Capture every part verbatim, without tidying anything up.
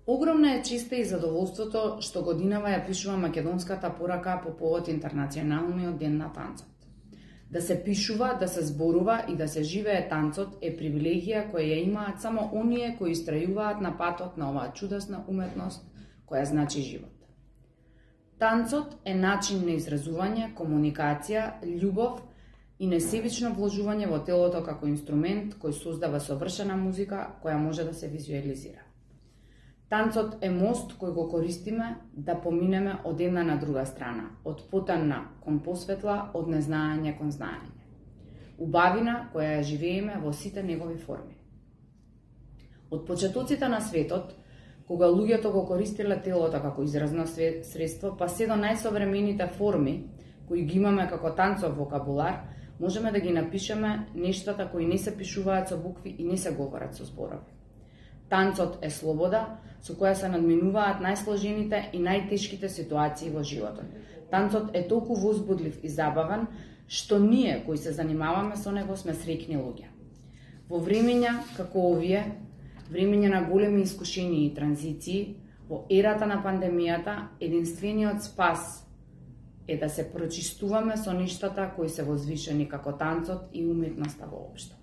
Огромна е честа и задоволството што годинава ја пишува македонската порака по повод Интернационалниот ден на танцот. Да се пишува, да се зборува и да се живее танцот е привилегија која ја имаат само оние кои истрајуваат на патот на оваа чудесна уметност која значи живот. Танцот е начин на изразување, комуникација, љубов и несебично вложување во телото како инструмент кој создава совршена музика која може да се визуализира. Танцот е мост кој го користиме да поминеме од една на друга страна, од потамна кон посветла, од незнаење кон знаење. Убавина која ја живееме во сите негови форми. Од почетоците на светот, кога луѓето го користеле телото како изразно средство, па се до најсовремените форми кои ги имаме како танцов вокабулар, можеме да ги напишеме нештата кои не се пишуваат со букви и не се говорат со зборови. Танцот е слобода со која се надминуваат најсложените и најтешките ситуации во животот. Танцот е толку возбудлив и забавен, што ние кои се занимаваме со него сме среќни луѓе. Во времења како овие, времења на големи искушенија и транзиции, во ерата на пандемијата, единствениот спас е да се прочистуваме со нештата кои се возвишени како танцот и уметноста воопшто.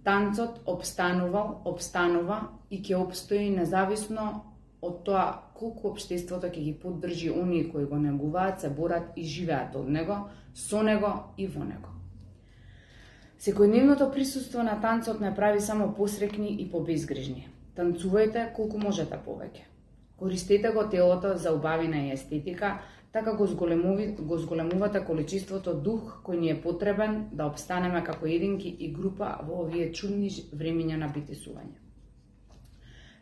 Танцот обстанувал, обстанува и ќе обстои независно од тоа колку општеството ќе ги поддржи оние кои го негуваат, се борат и живеат од него, со него и во него. Секојдневното присуство на танцот не прави само посрекни и побезгрижни. Танцувајте колку можете повеќе. Користете го телото за убавина и естетика, така го, го зголемувате количеството дух кој ни е потребен да обстанеме како единки и група во овие чудни времења на битисување.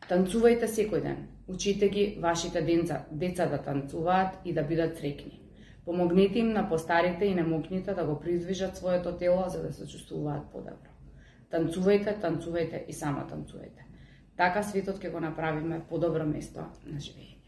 Танцувајте секој ден, учите ги вашите деца, деца да танцуваат и да бидат среќни. Помогнете им на постарите и немокните да го приздвижат своето тело за да се чувствуваат подобро. Танцувајте, танцувајте и само танцувајте. Така светот ќе го направиме подобро место на живење.